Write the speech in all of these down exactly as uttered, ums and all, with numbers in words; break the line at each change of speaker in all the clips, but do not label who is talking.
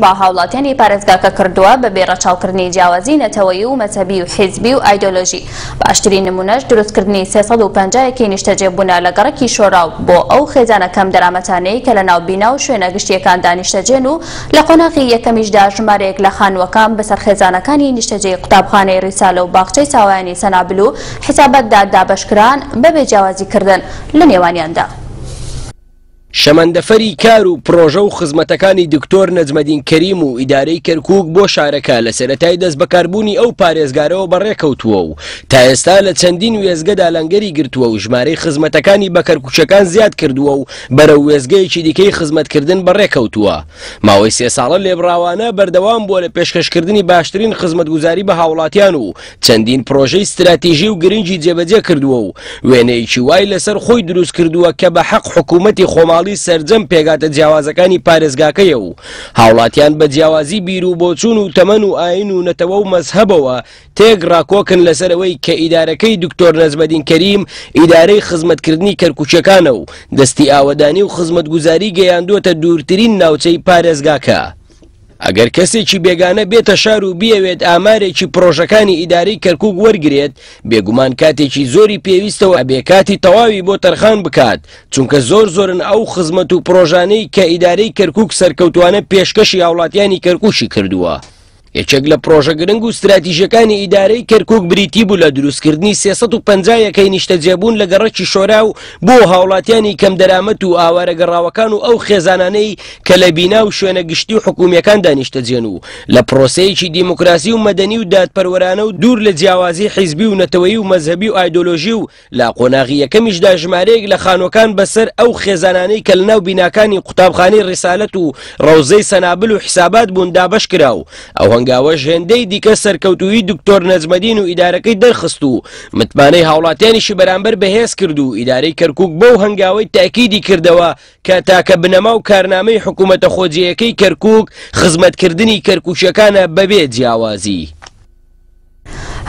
بە هاوڵاتیانی پارێزگاکە کردووە بەبێ ڕەچاوکردنی جیاوازی نەتەوەیی و مەزهەبی و حیزبی و ئایدۆلۆژی. باشترین نمونەش دروستکردنی سێ سەد و پەنجا یەکەی نیشتەجێبوونە لە گەڕەکی شۆراو بۆ ئەو خێزانە کەم دەرامەتانەی کە لە ناو بینا و شوێنە گشتیەکاندا نیشتەجێن و لە قۆناغی یەکەمیشدا ژمارەیەک لە خانووەکان بەسەر خێزانەکانی نیشتەجێی قوتابخانەی ڕیسالە و باخچەی ساوایانی سەنابل و حیساباتدا دابەشکران بەبێ جیاوازیکردن لە نێوانیاندا.
شەمەندەفەری کار و پرۆژە و خزمەتەکانی دکتۆر نەجمەدین کەریم و ئیدارەی کەرکوک بۆ شارەکە لە سەرەتای دەست بەکاربوونی ئەو پارێزگارەوە بەڕێکەوتووە و تا ئێستا لە چەندین وێزگەدا لەنگەری گرتووە و ژمارەی خزمەتەکانی بە کەرکوچەکان زیاد کردووە و بەرەو وێزگەیەکی دیکەی خزمەتکردن بەڕێکەوتووە. ماوەی سێ ساڵە لێبڕاوانە بەردەوام بووە لە پێشکەشکردنی باشترین خزمەتگوزاری بە هاوڵاتیان و چەندین پرۆژەی ستراتیژی و گرنگی جێبەجێ کردووە و وێنەیەکی وای لەسەر خۆی دروست کردووە کە بە حەق حکوومەتی خۆماڵی سەرجەم پێگاتە جیاوازەکانی پارێزگاکەیە و هاوڵاتیان بە جیاوازی بیر و بۆچوون و تەمەن و ئاین و نەتەوە و مەزهەبەوە تێک ڕاکۆکن لەسەرەوەی کە ئیدارەکەی دکتۆر نەجمەدین کەریم ئیدارەی خزمەتکردنی کەرکوچەکانە و دەستی ئاوەدانی و خزمەتگوزاری گەیاندووەتە دوورترین ناوچەی پارێزگاکە. ئەگەر کەسێکی بێگانە بێتە شار و بیەوێت ئامارێکی پرۆژەکانی ئیدارەی کەرکوک وەرگرێت، بێگومان کاتێکی زۆری پێویستەوە بێ کاتی تەواوی بۆ تەرخان بکات، چونکە زۆر زۆرن ئەو خزمەت و پرۆژانەی کە ئیدارەی کەرکوک سەرکەوتوانە پێشکەشی هاوڵاتیانی کەرکوکی کردووە. یەکێک لە پرۆژە گرنگ و ستراتیژەکانی ئیدارەی کەرکوک بریتی بوو لە دروستکردنی سێ سەد و پەنجا یەکەی نیشتەجێبوون لە گەڕەکی شۆرا و بۆ هاوڵاتیانی کەمدەرامەت و ئاوارە گەڕاوەکان و ئەو خێزانانەی کە لە بینا و شوێنە گشتی و حکومیەکاندا نیشتەجێن و لە پرۆسەیەکی دیموکراسی و مەدەنی و دادپەروەرانە و دوور لە جیاوازی حیزبی و نەتەوەیی و مەزهەبی و ئایدۆلۆژی و لە قۆناغی یەکەمیشدا ژمارەیەک لە خانووەکان بەسەر ئەو خێزانانەی کە لەناو بیناکانی قوتابخانەی ڕیسالەت و ڕەوزەی سەنابل و حیسابات بوون دابەش کرا و ئەو هەنگاوەش هێندەی دیکە سەرکەوتوویی دکتۆر نەجمەدین و ئیدارەکەی دەرخست و متمانەی هاوڵاتیانیشی بەرامبەر بەهێز کرد و ئیدارەی کەرکوک بەو هەنگاوەی تاکیدی کردەوە کە تاکە بنەما و کارنامەی حکوومەتە خۆجێیەکەی کەرکوک خزمەتکردنی کەرکوچیەکانە بەبێ جیاوازی.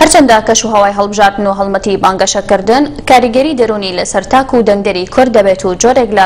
هەرچەندە کەش و هەوای هەڵبژاردن و هەڵمەتی بانگەشەکردن کاریگەری دەرونی لەسەر تاک و دەنگدەری کورد دەبێت و جۆرێک لە